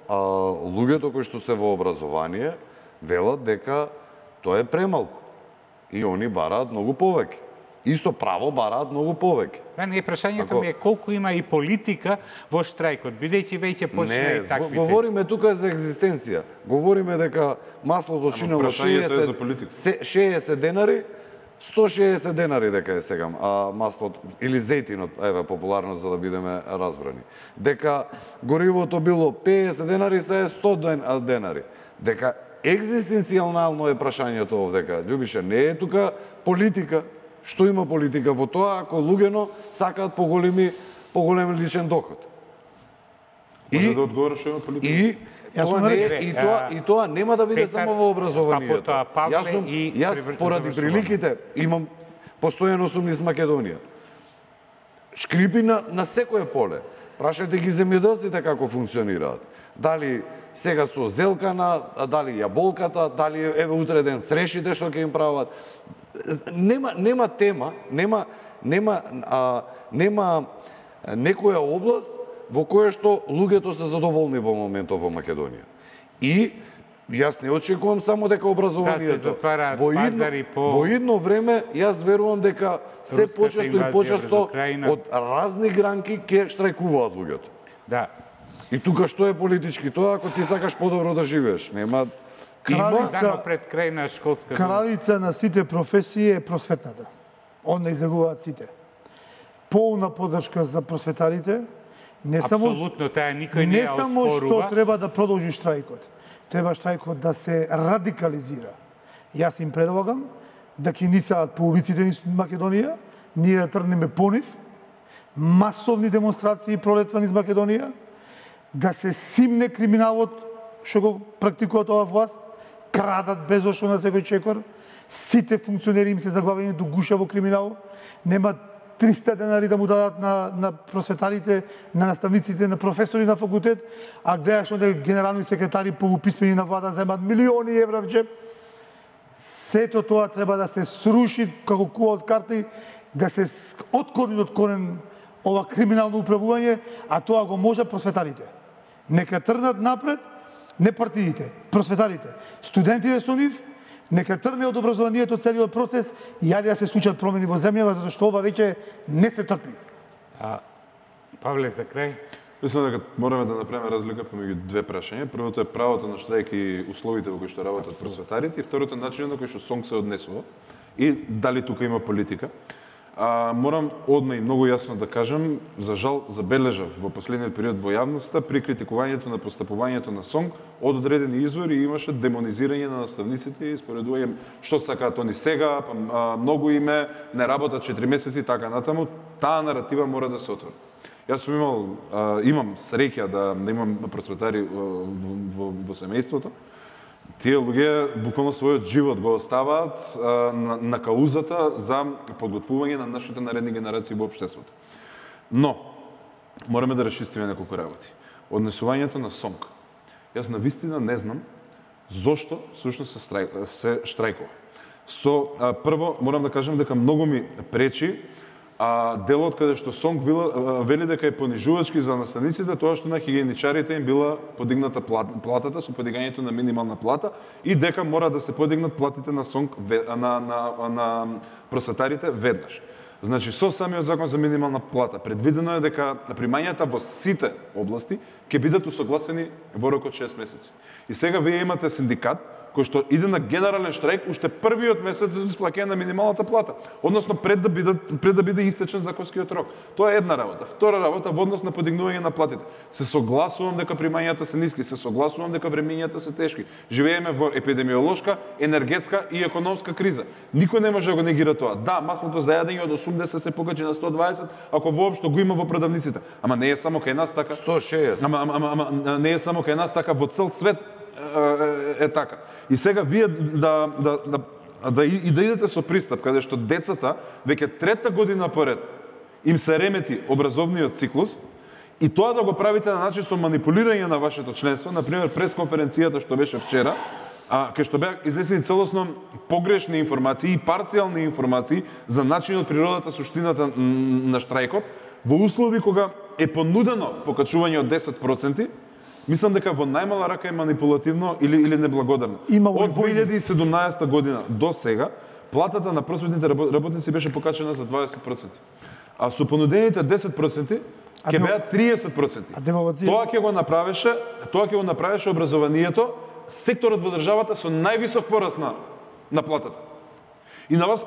луѓето кои што се во образование велат дека тоа е премалку. И они бараат многу повеќе. И со право бараат многу повеќе. Не, прашањето ми е колку има и политика во штрајкот, бидејќи веќе почна и таквите. Говориме тука за екзистенција. Говориме дека маслото чинело 60 денари, 160 денари дека е сега маслото или зејтинот, еве популарно за да бидеме разбрани. Дека горивото било 50 денари, се е 100 денари. Дека екзистенцијално е прашањето овдека. Љубише, не е тука политика. Што има политика во тоа ако луѓено сакаат поголем личен доход? Може да одговориш што има политика? И тоа нема да биде само во образованието. Јас поради приликите имам постојано сум низ Македонија. Шкрипи на секое поле. Прашајте ги земјоделците како функционираат. Дали сега со зелкана, дали јаболката, дали еве утре ден црешите што ќе им прават. Нема тема, нема некоја област во која што луѓето се задоволни во моментов во Македонија. И јас не очекувам само дека образованието во идно време јас верувам дека се почесто и почесто од разни гранки ќе штрајкуваат луѓето. Да. И тука што е политички тоа ако ти сакаш подобро да живееш, нема пред крај на школска кралица на сите професии е просветната. Онда излегуваат сите. Полна поддршка за просветарите. Не само што треба да продолжи штрајкот. Треба штрајкот да се радикализира. Јас им предлагам да ќе нисаат по улиците низ Македонија, ние да тргнеме по нив, масовни демонстрации пролетва низ Македонија, да се симне криминалот што го практикуваат оваа власт, крадат безошо на секој чекор, сите функционери им се заглавени до гуша во криминал, нема 300 денари да му дадат на просветарите, на наставниците, на професори на факултет, а гледаш онде генерални секретари полуписмени на влада земат милиони евра в джеб. Сето тоа треба да се сруши како кула од карти, да се откорени од корен ова криминално управување, а тоа го може просветарите. Нека тргнат напред, не партиите, просветарите, студентите со нив, нека тргне од образованието целиот процес и јаде да се случат промени во земјава, затоа што ова веќе не се трпи. Павле, за крај? Мислам дека мораме да направиме разлика помеѓу две прашања. Првото е правото на штрајк и условите во кои што работат просветарите, и второто е начинот на кој што СОНК се однесува и дали тука има политика. Морам одма и многу јасно да кажам, за жал забележав во последниот период во јавноста при критикувањето на постапувањето на СОНК од одредени извори имаше демонизирање на наставниците и споредување што сакаат они сега, па многу име, не работат 4 месеци и така натаму. Таа наратива мора да се отвори. Јас сум имам среќа да имам просветари во семејството. Тие луѓе буквално својот живот го оставаат на каузата за подготвување на нашите наредни генерации во општеството. Но, мораме да расчистиме неколку работи. Однесувањето на СОНК. Јас навистина не знам зошто всушност се штрајкува. Прво, морам да кажам дека многу ми пречи делот каде што СОНК вели дека е понижувачки за наставниците, тоа што на хигиеничарите им била подигната платата со подигањето на минимална плата и дека мора да се подигнат платите на СОНК на просветарите веднаш. Значи, со самиот закон за минимална плата предвидено е дека примањата во сите области ќе бидат усогласени во рок од 6 месеци. И сега вие имате синдикат кој што иде на генерален штрајк уште првиот месец до исплаќање на минималната плата, односно пред да биде истечен законскиот рок. Тоа е една работа. Втора работа во однос на подигнување на платите. Се согласувам дека примањата се ниски, се согласувам дека времењата се тешки. Живееме во епидемиолошка, енергетска и економска криза. Никој не може да го негира тоа. Да, маслото за јадење од 80 се покачи на 120, ако воопшто го има во продавниците. Ама не е само кај нас така. 160. Ама не е само кај нас така, во цел свет е така. И сега вие да идете со пристап каде што децата веќе трета година поред им се ремети образовниот циклус и тоа да го правите на начин со манипулирање на вашето членство, например пресконференцијата што беше вчера, кај што беа изнесени целосно погрешни информации и парцијални информации за начинот, природата, суштината на штрајкот, во услови кога е понудено покачување од 10%, Мислам дека во најмала рака е манипулативно или неблагодарно. Од 2017 година до сега, платата на просветните работници беше покачена за 20%. А со понудените 10% ќе беа 30%. Тоа ќе го направеше образованието, секторот во државата со највисок пораст на платата. И на вас